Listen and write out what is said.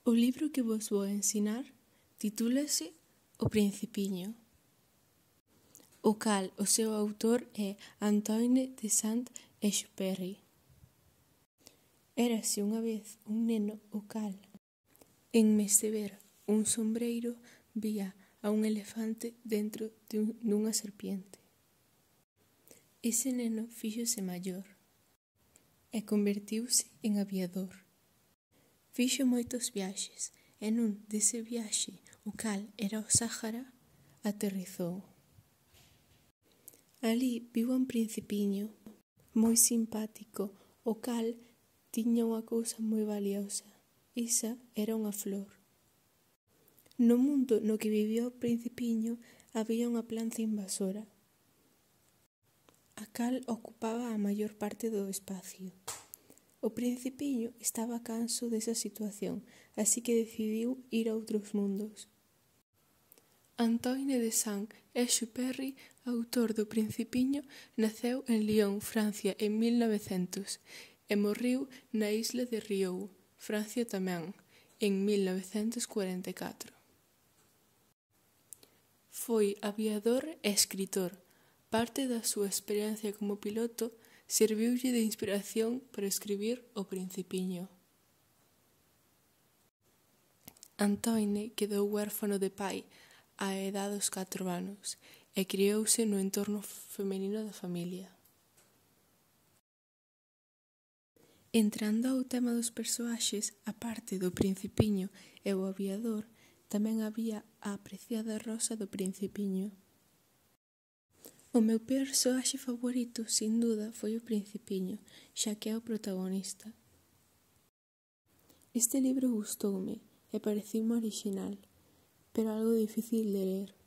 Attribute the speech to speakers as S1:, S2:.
S1: O libro que vos vou ensinar titúlase O Principiño, o cal o seu autor é Antoine de Saint-Exupéry. Érase unha vez un neno o cal, en vez de ver un sombreiro, vía a un elefante dentro dunha serpiente. Ese neno fíxose maior e convertiuse en aviador. Fixo moitos viaxes e nun dese viaxe, o cal era o Sáhara, aterrizou. Alí viu un principiño moi simpático, o cal tiña unha cousa moi valiosa. Esa era unha flor. No mundo no que vivía o principiño había unha planta invasora, a cal ocupaba a maior parte do espacio. O principiño estaba canso desa situación, así que decidiu ir a outros mundos. Antoine de Saint-Exupéry, autor do Principiño, naceu en Lyon, Francia, en 1900 e morreu na isla de Riou, Francia tamén, en 1944. Foi aviador e escritor. Parte da súa experiencia como piloto serviulle de inspiración para escribir O Principiño. Antoine quedou huérfano de pai á edad dos 4 anos e criouse no entorno feminino da familia. Entrando ao tema dos persoaxes, a parte do Principiño e o aviador, tamén había a apreciada Rosa do Principiño. O meu persoaxe favorito, sin duda, foi o Principiño, xa que é o protagonista. Este libro gustoume e pareciume orixinal, pero algo difícil de ler.